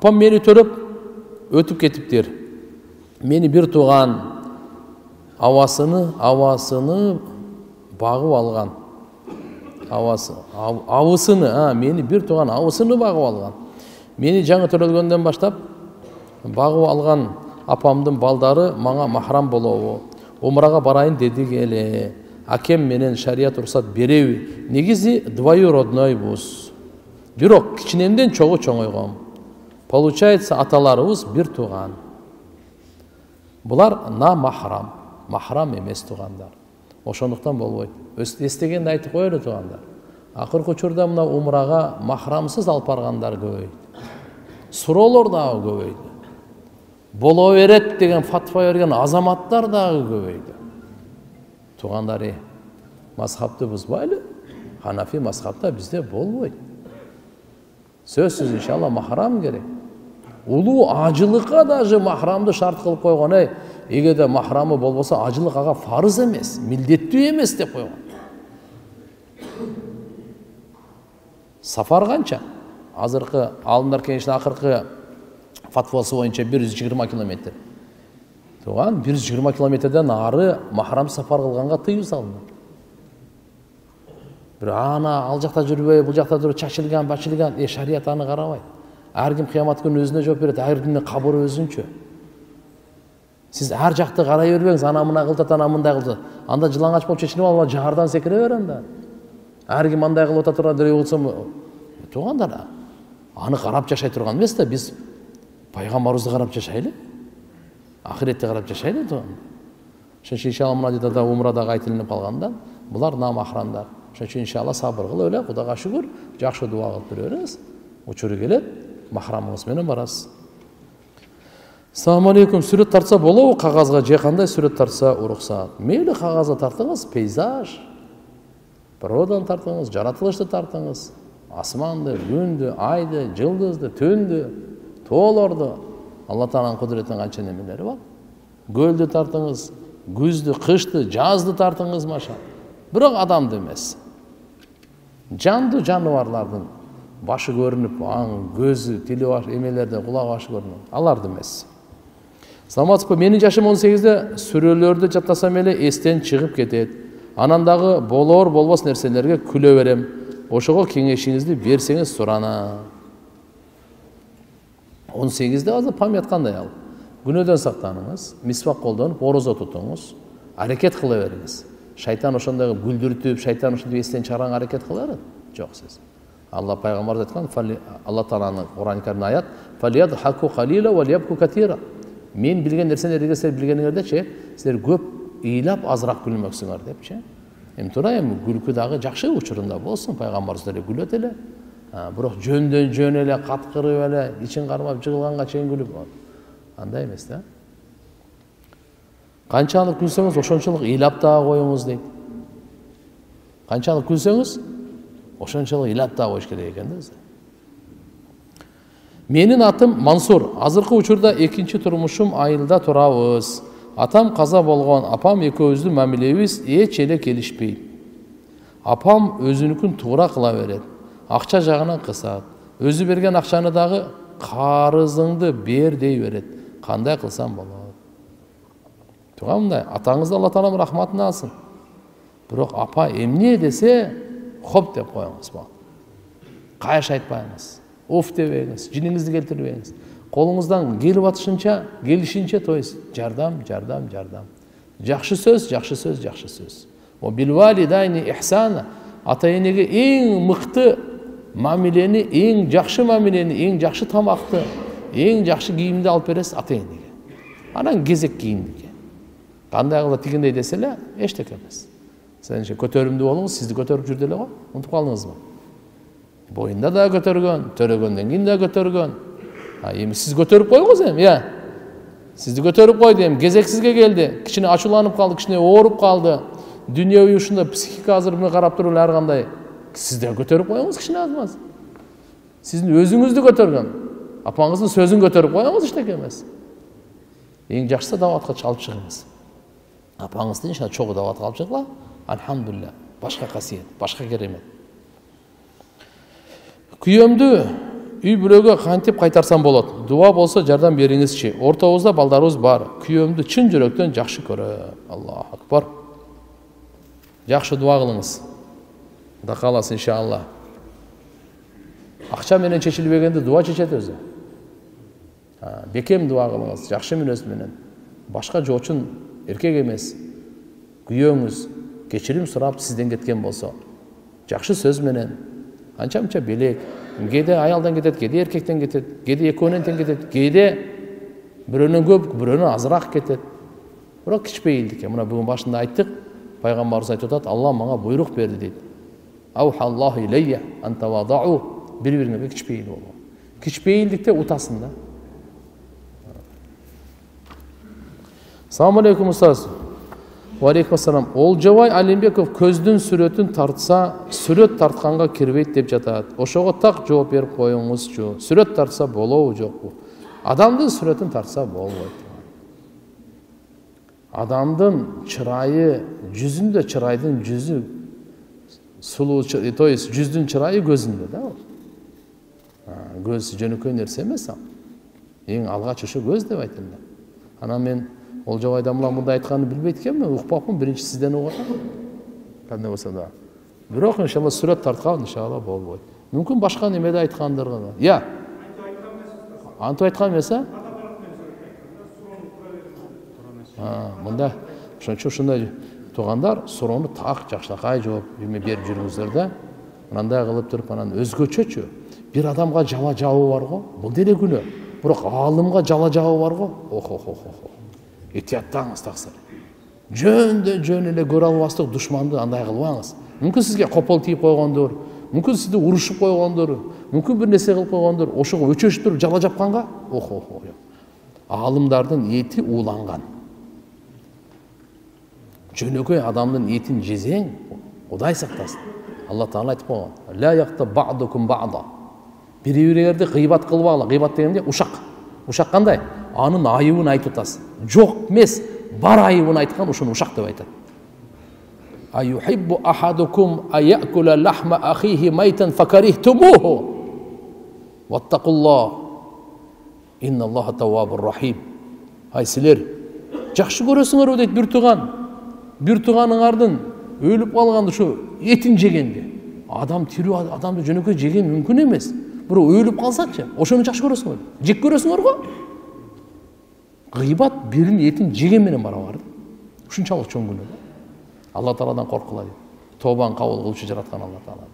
Апам мени төрөп өтүп кетиптир. Мени бир тууган авасыны багып алган. Авысыны, мени бир тууган авысыны багып алган. Мени жаңы төрөлгөндөн баштап багып алган апамдын балдары мага махрам болобу? Умрага барайын дедик эле. Акем менен шарият уруксат береби? Негизи двоюроднойбуз. Бирок кичинемден чогуу чоңойгом. Получается, аталарыбыз бир тууган. Булар на махрам, махрам эмес туугандар. Ошондуктан болбойт. Эстегенди айтып коелу туугандар. Акыркы учурда мына умрага махрамсыз алып баргандар көбөйдү. Суроолор дагы көбөйдү. Боло берет деген фатва берген азаматтар дагы көбөйдү. Туугандар, мазхабты бузбайлы. Ханафи мазхабта бизде болбойт. Сөзсүз иншалла махрам керек. Улуу ажылыкка даже махрамды шарт кылып койгон. Эгерде махрамы болбосо ажылык ага фарыз эмес, милдеттүү эмес деп койгон. Сафар канча? Азыркы алымдар кеңешинин акыркы фатвасы боюнча 120 километр. Туган 120 километрден ары махрам сафар кылганга тыюу салынды. Бир ал жакта жүрбөй, бул жакта жүрүп чачылган, бачылган, шарият аны карабайт. Ар ким кыямат күнү өзүнө жооп берет, ар кимдин кабыры өзүнчө. Сиз ар жакты карай бербеңиз, ана мына кылтат, ана мындай кылтат. Анда жылаңач болуп чечилип алып, жаардан секире бер анда. Ар ким андай кылып ата турган деп кылсам, туугандар, аны карап жашай турган эмес да, биз пайгамбарыбызды карап жашайлы. Ахиретти карап жашайлы туугандар. Ошон үчүн иншалла мына жерде умрадагы айтылып калганда, булар намахрамдар. Ошон үчүн иншалла сабыр кылып эле, Кудайга шүгүр, жакшы дуа кылып тура бериңиз. Учуру келет, махрамыңыз менен барасыз. Ассаламу алейкум. Сүрөт тартса болобу кагазга же кандай сүрөт тартса уруксат? Мейли кагазга тартыңыз, пейзаж, природаны тартыңыз, жаратылышты тартыңыз. Асманды, күндү, айды, жылдызды, түндү, тоолорду. Алла Тааланын кудуретинин канча немелери бар. Көлдү тартыңыз, күздү, кышты, жазды тартыңыз маша. Бирок адамды эмес. Жандуу жаныбарлардын башы көрүнүп, көзү, тили баш, эмелерде кулагы башы көрүнүп. Аларды эмес. Саламатсызбы? Менин жашым 18-де сүрөлөрдү жаттасам эле эстен чыгып кетет. Анан дагы болор болбос нерселерге күлө берем. Ошого кеңешиңизди берсеңиз сурана. 18-де азыр память кандай ал? Күнөөдөн сактаныңыз, мисвак колдонуп, орозо тутуңуз, аракет кыла бериңиз. Шайтан ошондой күлдүртүп, шайтан ошондой эстен чыгарганга аракет кыла берет? Жок сиз. Алла пайгамбар айткан, Алла Тааланын Кур'ан-ы Каримде аят: "Фалияхаку калила ва лиябку катира." Мен билген нерселерге силер билгениңердечи, силер көп ыйлап азыраак күлмөксүңөр депчи. Тура күлкү дагы жакшы учурунда болсун, пайгамбарыбыз эле күлөт эле. Бирок жөндөн жөн эле каткырып эле, ичин кармап жыгылганга чейин күлүп, андай эмес да. Канчалык күлсөңүз, ошончолук ыйлап дагы коюңуз дейт. Канчалык күлсөңүз, ошончолук ыйлап дагы коюш керек экен да. Менин атым Мансур. Азыркы учурда экинчи турмушум айылда турабыз. Атам каза болгон, апам экөөбүздүн мамилебиз эч эле келишпейт. Апам өзүнүкүн туура кыла берет. Акча жагынан кысат. Өзү берген акчаны дагы карызыңды бер дей берет. Кандай кылсам болот? Тугандай, атаңызды Алла Таалам рахматына алсын. Бирок апа эмне десе, хоп деп коюңуз болот. Кайш айтпайыңыз. Оф дебеңиз, жиниңизди келтирбеңиз. Колуңуздан келип атышынча, келишинче тойс, жардам. Жакшы сөз, жакшы сөз, жакшы сөз. О билвалидайни ихсана. Ата-энеге эң мыкты мамилени, эң жакшы мамилени, эң жакшы тамакты, эң жакшы кийимди алып бересиз ата-энеге. Анан кезек кийимдике. Кандай кылып тигиндей десе эле, эчтеке эмес. Сенче көтөрүмдүү болуңуз, сизди көтөрүп жүрдү эле го. Унутуп калдыңызбы? Боюнда да көтөргөн, төрөгөндөн кийин да көтөргөн. Эми сиз көтөрүп койгуңуз эми, Сизди көтөрүп койду эми, кезек сизге келди. Кичине ачууланып калды, кичине ооруп калды. Дүйнөбүй ушундай психика азыр муну карап туруп эле ар кандай. Сиз да көтөрүп коюңуз кичине азмаз. Сиздин өзүңүздү көтөргөн. Апаңыздын сөзүн көтөрүп коюңуз эчтеке эмес. Эң жакшысы даватка чалып чыгыңыз. Апаңызды иншалла чогуу даватка алып чыгыла. Алхамдулилля. Башка касиет, башка керемет. Күйөөмдү үй бүлөгө кантип кайтарсам болот? Дуа болсо жардам бериңизчи. Ортобузда балдарыбыз бар. Күйөөмдү чын жүрөктөн жакшы көрөм. Аллаху акбар. Жакшы дуа кылыңыз. Кудай кааласа иншалла. Акча менен чечилбегенди дуа чечет өзү. Бекем дуа кылыңыз, жакшы мүнөз менен. Башка жоочун эркек эмес. Күйөөңүз кечирим сурап сизден кеткен болсо, жакшы сөз менен, анча-мынча белек, кээде аялдан кетет, кээде эркектен кетет, кээде экөөнөн тең кетет, кээде бирөөнөн көп, бирөөнөн азыраак кетет. Бирок кичпейилдикке, мына бүгүн башында айттык, пайгамбарыбыз айтып атат, Алла мага буйрук берди дейт. Аухаллаху илейя ан тавадау, бири-бириңерге кичпейил болуу. Кичпейилдикте утасың да. Assalamu alaikum ustaz. Wa alaikum assalam. Олжобай Алимбеков көздүн сүрөтүн тартса, сүрөт тартканга кирбейт деп жатат. Ошого так жооп берип коюңузчу. Сүрөт тартса болобу жокпу? Адамдын сүрөтүн тартса болбойт. Адамдын чырайы, жүзүндө чырайдын жүзү сулуу, то есть жүздүн чырайы көзүндө да. Көз жөнөкөй нерсе эмес ал. Эң алгач ошо көз деп айтылды. Анан мен Олжобайдан мындай айтканын билбейт экенмин, укпапмын, биринчи сизден угат. Кандай болсо да. Бирок иншалла сүрөт тарткан иншалла болбойт. Мүмкүн башка немеде айткандыр. Я. Антип айткан эмес, а? Мында ошондой туугандар суроону так жакшынакай жооп берип жүрүңүздөр да. Мындай кылып туруп анан өзгөчөчү. Бир адамга жала жабы бар го, бул деле күнөө. Бирок аалымга жала жабы бар го. Охо. Этияттаңыз таксыр. Жөн эле көрө албастык душманды андай кылбаңыз. Мүмкүн сизге копол тийип койгондур, мүмкүн сизди урушуп койгондур, мүмкүн бир нерсе кылып койгондур, ошого өчөшүп туруп жала жапканга, охо. Аалымдардын эти ууланган. Жөнөкөй адамдын этин жесең, Кудай сактасын. Алла Таала айтып койгон: "Ла яхта ба'дукум ба'да." Бири-бириңерди гыйбат кылбагыла. Гыйбат дегенде ушак. Ушак кандай? Анын айыбын айтып атасыз. Жок эмес, бар айыбын айткан ушуну ушак деп айтат. Аюхиббу ахадукум аякула лахма ахихи майтан факарихтумуху. Ваттакуллах. Инналлаха таввабур рахим. Ай силер жакшы көрөсүңөрбү дейт бир тууган. Бир тууганыңардын өлүп калган ушу этин жегенде. Адам тирүү адамды жөнөкөй жеген мүмкүн эмес. Бирок өлүп калсачы, ошону жакшы көрөсүңөр. Жек көрөсүңөр го? Гыйбат биринин этин жеген менен барабар. Ушунчалык чоң күнөө. Алла Тааладан коркулайлы. Тобаны кабыл кылуучу жараткан Алла Таала.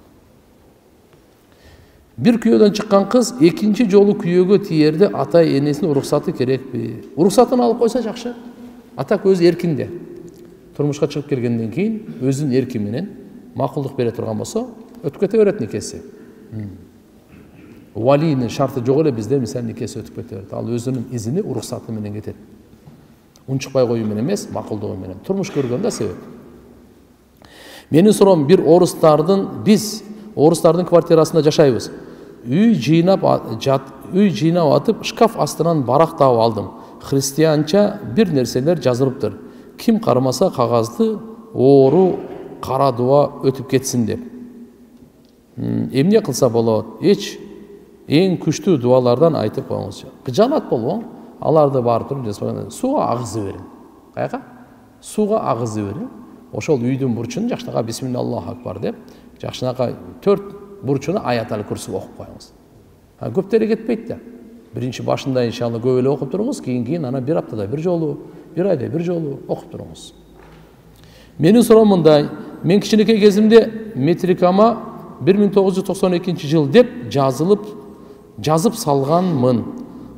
Бир күйөөдөн чыккан кыз экинчи жолу күйөөгө тиерде ата энесинин уруксаты керекпи? Уруксатын алып койсо жакшы. Атак өз эркинде. Турмушка чыгып келгенден кийин өзүнүн эрки менен макулдук бере турган болсо, өтүп кете берет никеси. Валийнин шарты жок эле бизде, мисалы никеси өтүп кете берет. Ал өзүнүн изини, уруксаты менен кетет. Унчукпай коюу менен эмес, макулдугу менен. Турмуш көргөн да себеп. Менин суроом, бир биз орустардын квартирасында жашайбыз. Үй жыйнап атып, шкаф астынан барак таап алдым. Христианча бир нерселер жазылыптыр. Ким кармаса кагазды оору кара дуа өтүп кетсин деп. Эмне кылса болот? Эң күчтүү дуалардан айтып коюңузчу. Кыжаанат болбоң, аларды барып туруп жазбаганда сууга агызып бериң. Каяка? Сууга агызып бериң. Ошол үйдүн бурчун жакшынакай бисмиллаху акбар деп, жакшынакай 4 бурчуна аят-аль курси окуп коюңуз. Көптөрү кетпейт да. Биринчи башында иншалла көп эле окуп туруңуз, кийин ана бир аптада бир жолу, бир айда бир жолу окуп туруңуз. Менин суроом мындай: мен кичинекей кезимде метрикама 1992 деп жазып салганмын.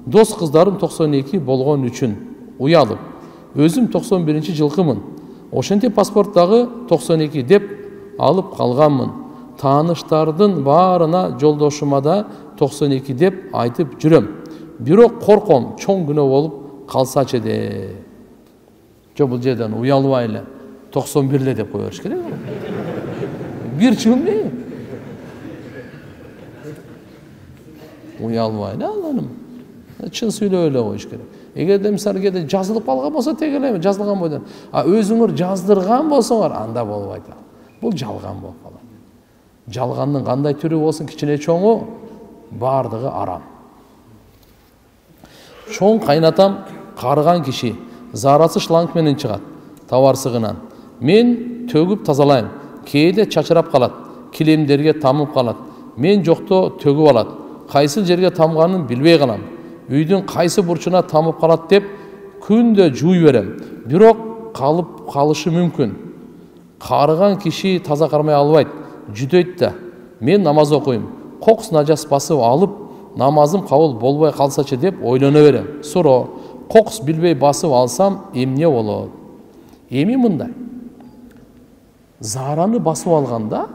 Дос кыздарым 92 болгон үчүн уялып. Өзүм 91 жылкымын. Ошентип паспорттагы 92 деп алып калганмын. Тааныштардын баарына жолдошума да 92 деп айтып жүрөм. Бирок корком, чоң күнөө болуп калсачы деп. Жок, бул жерден уялбай эле 91 эле деп кое бериш керек. Бир жыл эмне? Уялбай эле аланым. Чын сүйлөп эле коюш керек. Эгерде мисалы кээде жазылып калган болсо тег эле жазылган бойдон. Өзүңөр жаздырган болсоңор анда болбойт. Бул жалган болуп калат. Жалгандын кандай түрү болсун, кичине чоңу бардыгы арам. Чоң кайнатам карыган киши зарасы шланг менен чыгат товарсыгынан. Мен төгүп тазалайм. Кээде чачырап калат, килемдерге тамып калат. Мен жокто төгүп алат. Кайсы жерге тамганын билбей калам. Үйдүн кайсы бурчуна тамып калат деп күндө жууй берем. Бирок калып калышы мүмкүн. Карыган киши таза кармай албайт, жүдөйт да. Мен намаз окуйм. Кокус нажас басып алып, намазым кабыл болбой калсачы деп ойлоно берем. Суроо, кокус билбей басып алсам эмне болот? Эми мындай. Зараны басып алганда,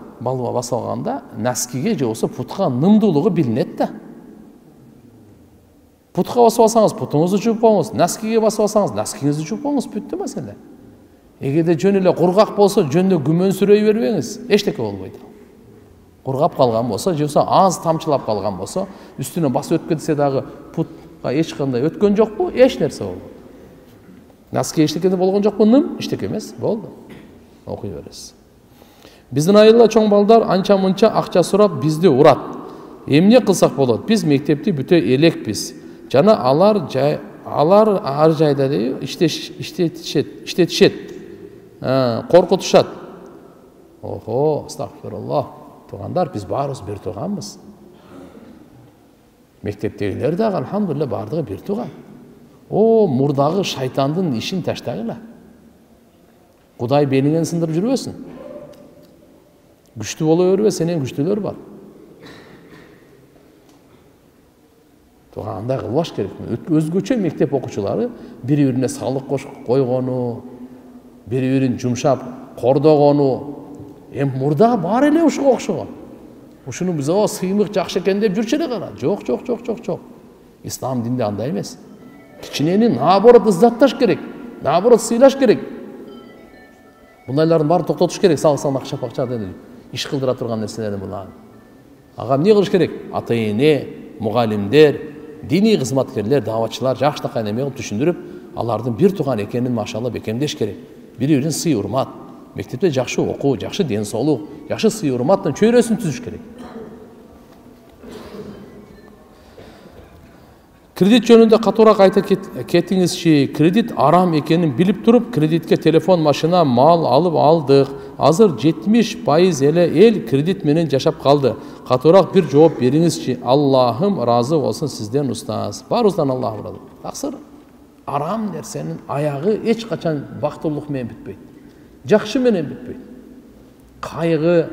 наскиге же болсо путка нымдуулугу билинет да. Путка басып алсаңыз, путуңузду жууп коюңуз, наскиге басып алсаңыз, наскиңизди жууп коюңуз, бүттү маселе. Эгерде жөн эле кургак болсо, жөндө күмөнсүрөй бербеңиз, эчтеке болбойт. Кургап калган болсо, же болсо аз тамчылап калган болсо, үстүнөн басып өтүп кетсе дагы путка эч кандай өткөн жокпу, эч нерсе болбойт. Наски эчтеке болгон жокпу, ным эчтеке эмес, болду. Окуй бересиз. Биздин айылда чоң балдар анча-мынча акча сурап бизди урат. Эмне кылсак болот? Биз мектепти бүтө элекпиз. Жана алар ар жайда иштетишет. Коркутушат. Охо, астагфируллах. Туугандар, биз баарыбыз бир тууганбыз. Мектептегилер дагы алхамдулилла бардыгы бир тууган. Мурдагы шайтандын ишин таштагыла. Кудай белиңен сындырып жүрбөсүн. Күчтүү боло бербе, сенен күчтүүлөр бар. Андай кылбаш керек. Өзгөчө мектеп окуучулары бири-бирине салык койгону, бири-бирин жумшап кордогону, мурда бар эле ушуга окшогон. Ушуну биз сыймык жакшы экен деп жүрчү эле кара. Жок. Ислам динде андай эмес. Кичинени наоборот ыззатташ керек, наоборот сыйлаш керек. Бундайлардын баарын токтотуш керек, салык акча деп иш кылдыра турган нерселердин булар. Ага эмне кылыш керек? Ата-эне, мугалимдер, диний кызматкерлер, даватчылар жакшынакай неме кылып түшүндүрүп, алардын бир тууган экенин машалла бекемдеш керек. Бири-бирин сый урмат, мектепте жакшы окуу, жакшы ден соолук, жакшы сый урматтын чөйрөсүн түзүш керек. Кредит жөнүндө катуураак айта кетиңизчи. Кредит арам экенин билип туруп, кредитке телефон, машина, мал алып алдык. Азыр 70% эле эл кредит менен жашап калды. Катуураак бир жооп бериңизчи. Аллахым ыраазы болсун сизден, устаз. Баарыбыздан Аллах ыраазы. Таксыр арам нерсенин аягы эч качан бактылык менен бүтпөйт. Жакшы менен бүтпөйт. Кайгы,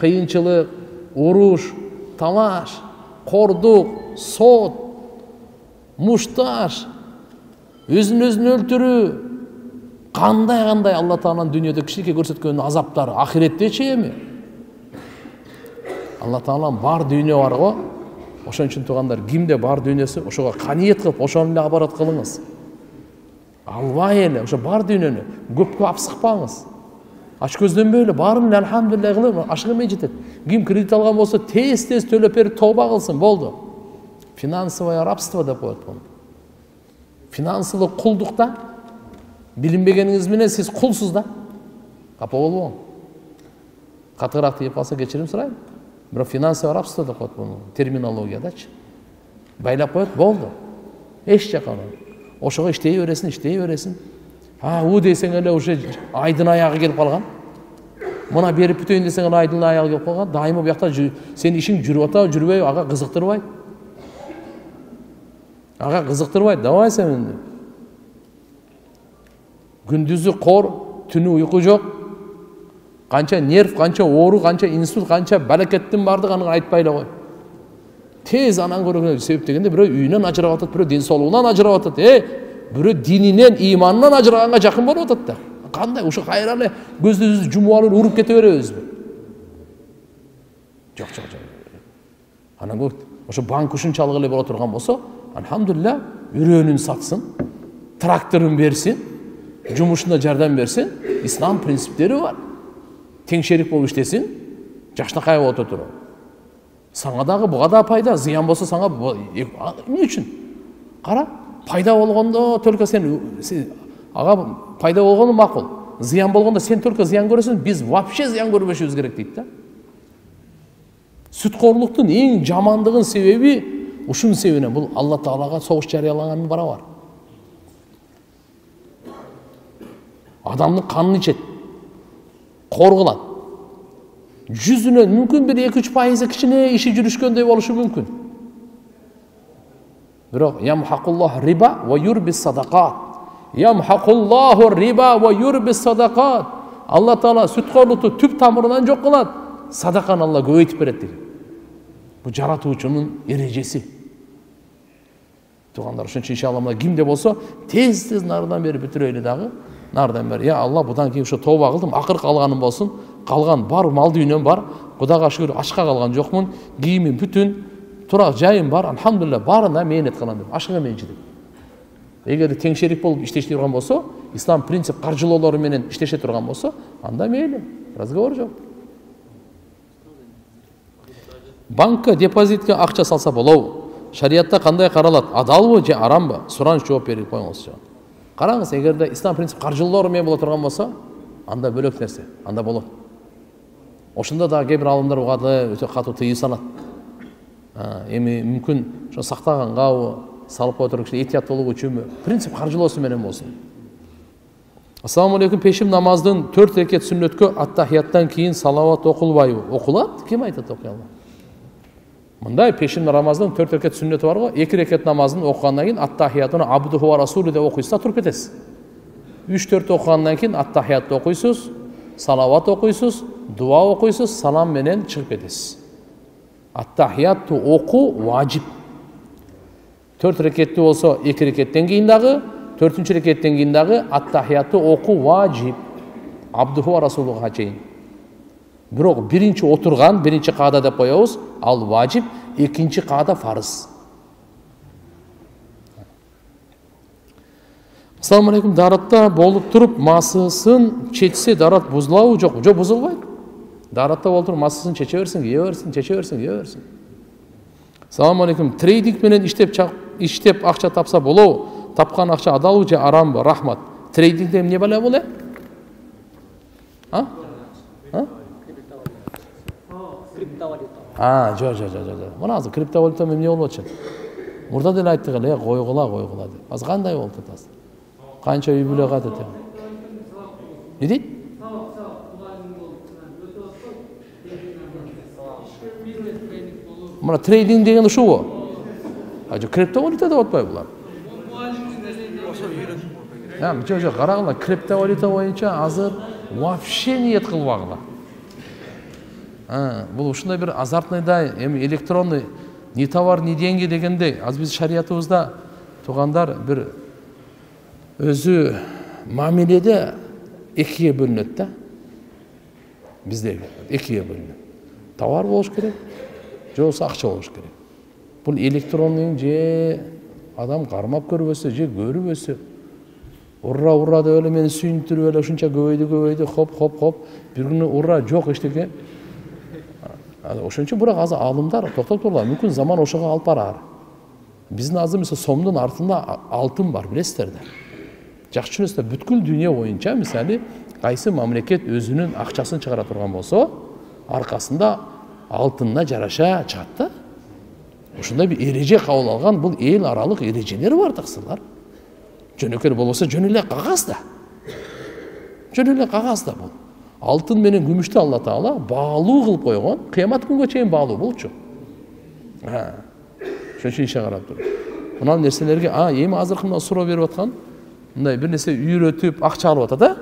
кыйынчылык, уруш, талаш, кордук, сот, мушташ, өзүн өлтүрүү, кандай Алла Тааланын дүйнөдө кишиге көрсөткөн азаптары ахиреттечи эми. Алла Тааланын бар дүйнө бар го. Ошон үчүн туугандар, кимде бар дүйнөсү, ошого каниет кылып, ошону эле абарат кылыңыз. Албай эле ошо бар дүйнөнү көпкө апсыкпаңыз. Ач көздөнбөй эле баарын эле алхамдулилlah кылып, ашык эмей жетет. Ким кредит алган болсо, тез төлөп берип тооба кылсын, болду. Финансовое рабство деп коет буну. Финансылык кулдукта билинбегениңиз менен сиз кулсуз да. Капа болбоң. Катыраак деп калса кечирим сурайм. Бирок финансовое рабство деп коет буну терминологиядачы. Байлап коет, болду. Эч жака. Ошого иштей бересиң. У десең эле уже айдын аягы келип калган. Мына берип бүтөйүн десең эле айдын аягы келип калган. Дайыма буякта сенин ишиң жүрүп атабы, жүрбөйбү, ага кызыктырбайт. Давай сен. Күндүзү кор, түнү уйку жок. Канча нерв, канча оору, канча инсульт, канча балекеттин бардыгы аны айтпай эле кой. Тез анан көргөн себеп дегенде бирөө үйүнөн ажырап атат, бирөө ден соолугунан ажырап атат, бирөө дининен, иманынан ажыраганга жакын болуп атат да. Кандай ушу кайра эле көздүбүздү жумуп алып уруп кете беребизби? Жок. Анан ошо банк ушунчалык эле боло турган болсо, алхамдулилlah, үрөөнүн сатсын, тракторун берсин, жумушунда жардам берсин, ислам принциптери бар. Тең шерик болуп иштесин, жакшынакай болуп отуруп. Саңа дагы буга да пайда, зыян болсо саңа эмне үчүн? Кара, пайда болгондо только сен ага пайда болгону макул. Зыян болгондо сен только зыян көрөсүң, биз вообще зыян көрбөшүбүз керек дейт да. Сүткорлуктун эң жамандыгын себеби ушунун себебинен бул Алла Таалага согуш жарыялаган барабар. Адамдын канын ичет, кор кылат. Жүзүнөн мүмкүн бир 2-3% кичине иши жүрүшкөндөй болушу мүмкүн. Бирок ямхакуллах риба ва юрбис садакат. Ямхакуллаху риба ва юрбис садакат. Алла Таала сүткорлукту түп тамырынан жок кылат, садаканы Алла көбөйтүп берет деген. Бул жаратуучунун эрежеси. Туугандар, ошон үчүн иншалла мына кимде болсо тез нардан бери бүтүрөйлү дагы. Нардан бери, я Алла, будан кийин ушу тооба кылдым, акыркы калганым болсун. Калган бар мал дүйнөм бар. Кудайга шүгүр ашка калган жокмун. Кийимим бүтүн, турак жайым бар. Алхамдулилlah, барына мээнет кылам деп. Ашыга менчи деп. Эгер теңшерик болуп иштеше турган болсо, ислам принцип каржылоолору менен иштеше турган болсо, анда мейли, разговор жок. Банкка депозитке акча салса болобу? Шариятта кандай каралат? Адалбы же арамбы? Сураныч жооп берип коюңузчу. Караңыз, эгерде ислам принцип каржылоолору менен боло турган болсо, анда бөлөк нерсе, анда болот. Ошондо да кээ бир алымдар угады, өтө катуу тыюу салат. Эми мүмкүн ошо сактагангабы, салып отуруп киши этият болуу үчүнбү? Принцип каржылоосу менен болсун. Ассаламу алейкум, пешим намаздын 4 рекет сүннөткө аттахияттан кийин салават окулбайбы? Окулат? Ким айтат окуй албайбы? Мындай пешим намаздын 4 рекет сүннөтү бар го, 2 рекет намазын окугандан кийин аттахиятыны абдуху ва расулу деп окуйсуз да туруп кетесиз. 3-4 окугандан кийин аттахиятты окуйсуз, салават окуйсуз, дуа окуйсуз, салам менен чыгып кетесиз. Аттахиятты оку важип. 4 рекетти болсо 2 рекеттен кийин дагы, 4-чү рекеттен кийин дагы аттахиятты оку важип. Абдуху ва расулуга чейин. Бирок биринчи отурган, биринчи каада деп коебуз, ал важип, экинчи каада фарыз. Ассаламу алейкум, даратта болуп туруп масысын чечсе дарат бузулабы жокпу? Жок, бузулбайт. Даратта болуп туруп масысын чече берсин, ие берсин, чече берсин, ие берсин. Ассаламу алейкум, трейдинг менен иштеп акча тапса болобу? Тапкан акча адалбы же арамбы? Рахмат. Трейдингде эмне бала болот? Жок. Мына азыр криптовалюта менен эмне болуп атат? Мурда деле айттык эле, койгула деп. Азыр кандай болуп атат? Канча үй бүлө катат? Не дейт? Мына трейдинг деген ушубу? Жок, криптовалюта деп атпайбы булар? Жок, карагыла, криптовалюта боюнча азыр вообще ниет кылбагыла. Бул ушундай бир азартныйдай, эми электронный ни товар, ни деньги дегендей. Азыр биз шариятыбызда туугандар бир өзү мамиледе экиге бөлүнөт да. Бизде экиге бөлүнөт. Товар болуш керек, же болбосо акча болуш керек. Бул электронный же адам кармап көрбөсө, же көрбөсө, ура деп эле мени сүйүндүрүп эле ушунча көбөйдү, хоп, бир күнү ура жок эчтеке. Ошон үчүн бирок азыр алымдар токтоп турула, мүмкүн заман ошого алып барар. Биздин азыр мисалы сомдун артында алтын бар, билесиздер да. Жакшы түшүнөсүздөр, бүткүл дүйнө боюнча мисалы кайсы мамлекет өзүнүн акчасын чыгара турган болсо, аркасында алтынына жараша чыгат да. Ушундай бир эреже кабыл алган, бул эл аралык эрежелер бар таксырлар. Жөнөкөй болбосо жөн эле кагаз да бул. Алтын менен күмүштү Алла Таала баалуу кылып койгон, кыямат күнгө чейин баалуу болчу. Ошон үчүн ишe карап туруп. Мына нерселерге эми азыркы мына суроо берип аткан, мындай бир нерсе үйрөтүп акча алып атат,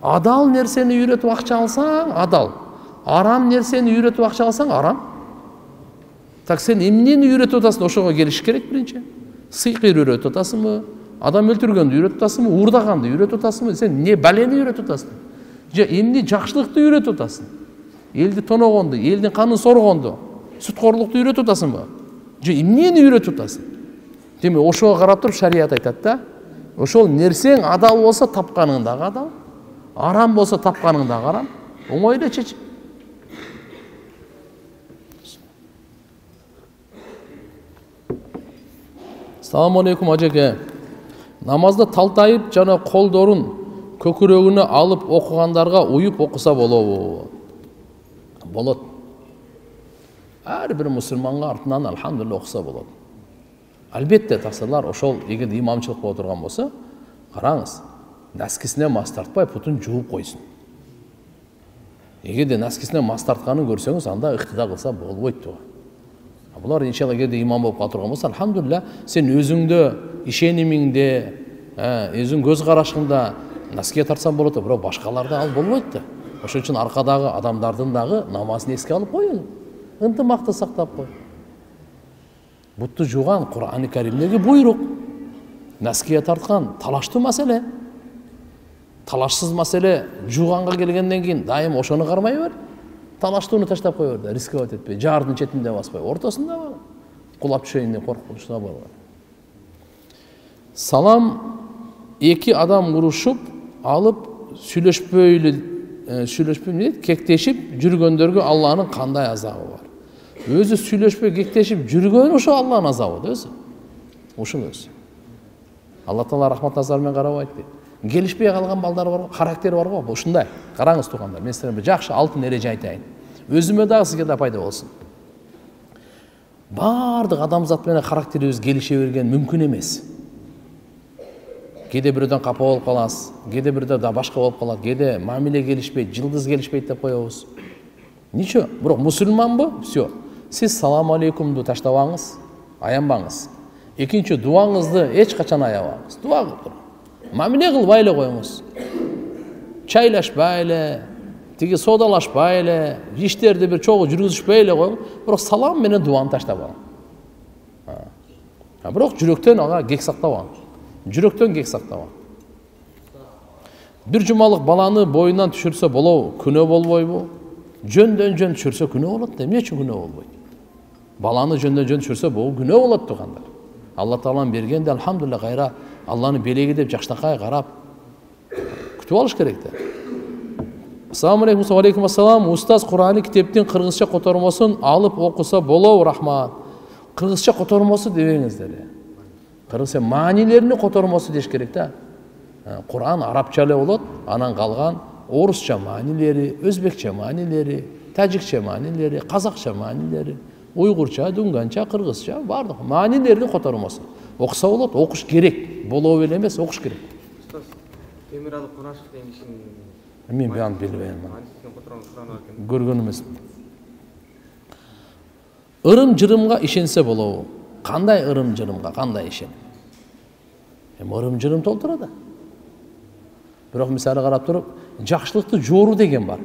Адал нерсени үйрөтүп акча алсаң, адал. Арам нерсени үйрөтүп акча алсаң, арам. Так сен эмнени үйрөтүп атасың, ошого келиш керек биринчи. Сыйкыр үйрөтүп атасыңбы? Адам өлтүргөндү үйрөтүп атасыңбы? Уурдаганды үйрөтүп атасыңбы? Сен не балени үйрөтүп атасың? Же эмне жакшылыкты үйрөтүп атасың? Элди тоногонду, элдин канын соргонду, сүткорлукту үйрөтүп атасыңбы? Же эмнени үйрөтүп атасың? Демек, ошого карап туруп шарият айтат да. Ошол нерсең адал болсо тапканың дагы адал, арам болсо тапканың дагы арам. Оңой эле чечим. Ассаламу алейкум ажеке. Намазда талтайып жана колдорун көкүрөгүнө алып окугандарга уюп окуса болобу? Болот. ар бир мусулманга артынан алхамдулилля окуса болот. Албетте тасырлар ошол эгер имамчылык боло турган болсо, караңыз, наскисине мас тартпай путун жууп койсун. Эгерде наскисине мас тартканын көрсөңүз, анда ыктыда кылса болбойт туга. Булар иншалла эгерде имам болуп кала турган болсо, алхамдулилля, сен өзүңдө, ишенимиңде, өзүң көз карашыңда наскиге тартсаң болот, бирок башкаларда ал болбойт да. Ошон үчүн аркадагы адамдардын дагы намазын эске алып коюң. Ынтымакты сактап кой. Бутту жууган Кур'ан-ы Каримдеги буйрук. Наскиге тарткан талаштуу маселе. Талашсыз маселе жууганга келгенден кийин дайым ошону кармай бер. Талаштууну таштап кой бер, рисковать этпей, жаардын четинде баспай, ортосунда бар. Кулап түшөйүн деп коркунучта бар. Салам эки адам урушуп, алып сүйлөшпөй кектешип жүргөндөргө Алланын кандай азабы бар? Өзү сүйлөшпөй кектешип жүргөн ошо Алланын азабы да өзү. Ушул өзү. Алла Таала рахмат назарымен карабайт дейт. Келишпей калган балдар бар, характери бар го, ушундай. Караңыз туугандар, мен силерге жакшы алтын эреже айтайын. Өзүмө дагы сизге да пайда болсун. Бардык адамзат менен характерибиз келише берген мүмкүн эмес. Кээде бирөөдөн капа болуп каласыз, кээде бирөөдө да башка болуп калат, кээде мамиле келишпейт, жылдыз келишпейт деп коебуз. Ничего, бирок мусулманбы? Всё. Сиз салам алейкумду таштабаңыз, аянбаңыз. Экинчи дуаңызды эч качан аябаңыз. Дуа кылып туруңуз. Мамиле кылбай эле коюңуз. Чайлашпай эле, тиги содалашпай эле, иштерди бир чогуу жүргүзүшпөй эле коюңуз, бирок салам менен дуаны таштабаңыз. Бирок жүрөктөн ага кек сактабаңыз. Жүрөктөн кек сактабаңыз. Бир жумалык баланы боюнан түшүрсө болобу, күнөө болбойбу? Жөндөн жөн түшүрсө күнөө болот да, эмне үчүн күнөө болбойт? Баланы жөндөн жөн түшүрсө бул күнөө болот тугандар. Алла Тааланын бергенде алхамдулилля кайра Алланы белеги деп жакшынакай карап күтүп алыш керек да. Ассаламу алейкум, ва алейкум ассалам. Устаз Кур'ан китептин кыргызча котормосун алып окуса болобу, рахмат. Кыргызча котормосу дебеңиздер. Кыргызча маанилерини котормосу деш керек да. Кур'ан арабча эле болот, анан калган орусча маанилери, өзбекче маанилери, тажикче маанилери, казакча маанилери, уйгурча, дүнганча, кыргызча бардык маанилерини котормосу. Окуса болот, окуш керек. Болобу эле эмес, окуш керек. Устаз, Темиралы Кунашев деген кишинин Мен биян билбейм. Көргөн эмесмин. Ырым-жырымга ишенсе болобу? Кандай ырым-жырымга, кандай ишенем? Ырым-жырым толтура да. Бирок мисалы карап туруп, жакшылыкты жоору деген бар.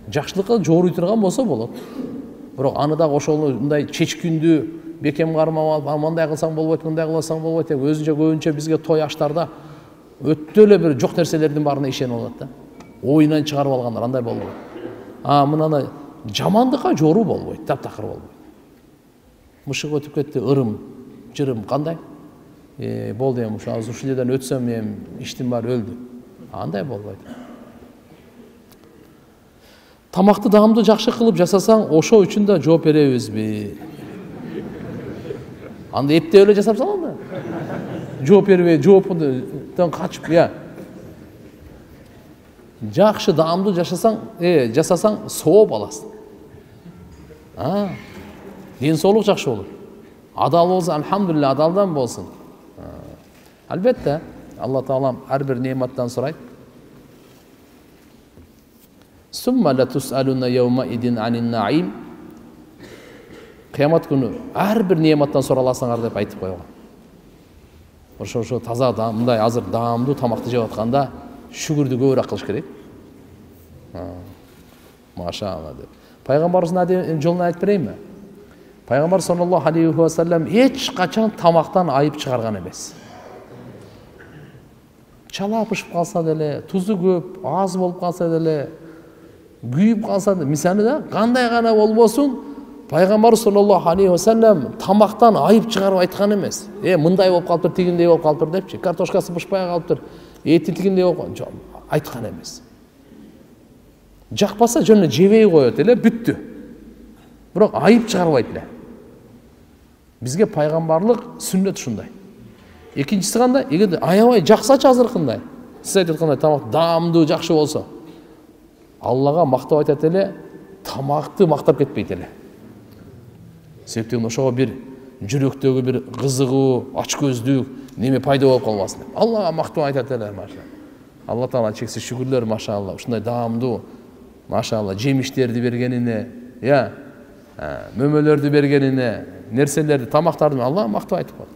Жакшылыкка жооруй турган болсо болот. Бирок аны дагы ошондой чечкүндү бекем кармап алып, мындай кылсаң болбойт, мындай кылсаң болбойт деп өзүнчө көбүнчө бизге той аштарда өтө эле бир жок нерселердин баарына ишенип алат да. Оюнан чыгарып алгандар андай болбойт. Мынаны жамандыкка жоору болбойт, таптакыр болбойт. Мышык өтүп кетти, ырым, жырым кандай? Болду эми ушул жерден өтсөм эми иштим бар, өлдү. Андай болбойт. Тамакты даамдуу жакшы кылып жасасаң, ошо үчүн да жооп беребизби? Анда эптеп эле жасап салам да. Жооп бербей, жооптон качып, жакшы даамдуу жасасаң, сооп аласың. Ден соолук жакшы болот. Адал болсо, алхамдулилля, адалдан болсун. Албетте, Алла Таалам ар бир неъматтан сурайт. Сумма ла тусалуна йаума идин анин наим. Кыямат күнү ар бир неъматтан сураласыңар деп айтып койгон. Ошо таза мындай азыр даамдуу тамакты жеп атканда шүгүрдү көбүрөөк кылыш керек. Машаалла деп. Пайгамбарыбыздын жолун айтып берейинби? Пайгамбар саллаллаху алейхи ва саллям эч качан тамактан айып чыгарган эмес. Чала пышып калса деле, тузу көп, аз болуп калса деле, күйүп калса деле, мисалы да кандай гана болбосун, Пайгамбар саллаллаху алейхи ва саллям тамактан айып чыгарып айткан эмес. Мындай болуп калыптыр, тигиндей болуп калыптыр депчи, картошкасы пышпай калыптыр, эти тигиндей болуп айткан эмес. Жакпаса жөн эле жебей коет эле, бүттү. Бирок айып чыгарбайт эле. Бизге пайгамбарлык сүннөт ушундай. Экинчиси кандай? Эгер аябай жаксачы азыркындай, сиз айткандай тамак даамдуу жакшы болсо, Аллага мактап айтат эле, тамакты мактап кетпейт эле. Себептен ошого бир жүрөктөгү бир кызыгуу, ачкөздүк неме пайда болуп калбасын деп. Аллага мактоо айтат эле, машалла. Алла Таала чексиз шүгүрлөр, машалла. Ушундай даамдуу, машалла, жемиштерди бергенине, мөмөлөрдү бергенине, нерселерди, тамактарды Аллага мактоо айтып коет.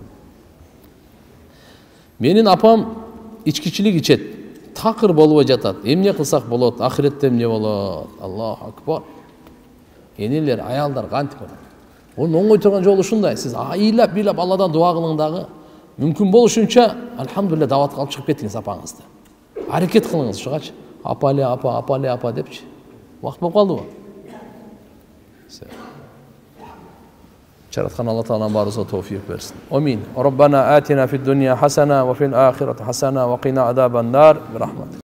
Менин апам ичкичилик ичет, такыр болбой жатат. Эмне кылсак болот? Ахиретте эмне болот? Аллаху акбар. Энелер, аялдар кантип болот? Onun оңой турган жолу ушундай. Сиз айылап, бийлап Алладан дуа кылың дагы. Мүмкүн болушунча, алхамдулилlah, даватка алып чыгып кетиңиз апаңызды. Аракет кылыңыз ушугачы. Апале, апа депчи. Вакыт болуп калдыбы? Жараткан Алла Таалам баарыбызга товфик берсин. Амин. Роббана атина фид дунья хасана ва фил ахирати хасана ва кина азабан нар. Бирахматик.